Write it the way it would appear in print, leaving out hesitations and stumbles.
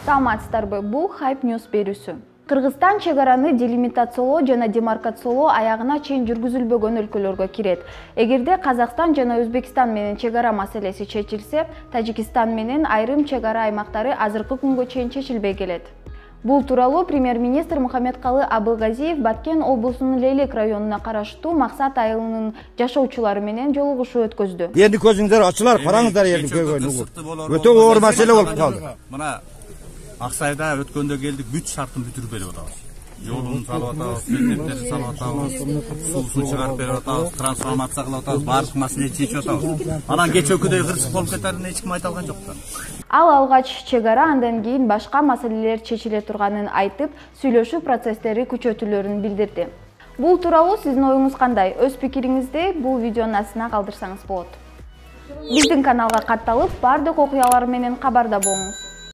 Саламатсыздарбы, бул Hype News берүүсү. Кыргызстан чек араны делимитациялоо жана демаркациялоо аягына чейин жүргүзүлбөгөн өлкөлөргө кирет. Эгерде Казакстан жана Өзбекстан менен чек ара маселеси чечилсе, Тажикстан менен айрым чек ара аймактары азыркы күнгө чейин чечилбей келет. Бул тууралуу премьер-министр Мухаммедкалы Абылгазиев Баткен облусунун Лейлек районуна караштуу Максат айылынын жашоочулары менен жолугушуу өткөздү. Эndi көзүңдөр ачылар, караңыздар элдин көйгөнүн. Өтө оор маселе болуп калды. Мына Аксайда өткөндө келдик, бүт шартын бүтүрүп атабыз. Жолун салып атабыз, мектептерди салып атабыз, суусун чыгарып берип атабыз, трансформация кылып атабыз, баардык маселени чечип атабыз. Анан кечээкүдөй кырсык болуп кетерин эч ким айта алган жок да. Ал алгач чек ара, андан кийин башка маселелер чечиле турганын айтып, сүйлөшүү процесстери күчөтүлөрүн билдирди. Бул тууралуу сиздин оюңуз кандай? Өз пикириңизди бул видеонун астына калтырсаңыз болот. Биздин каналга катталып, баардык окуялар менен кабарда болуңуз.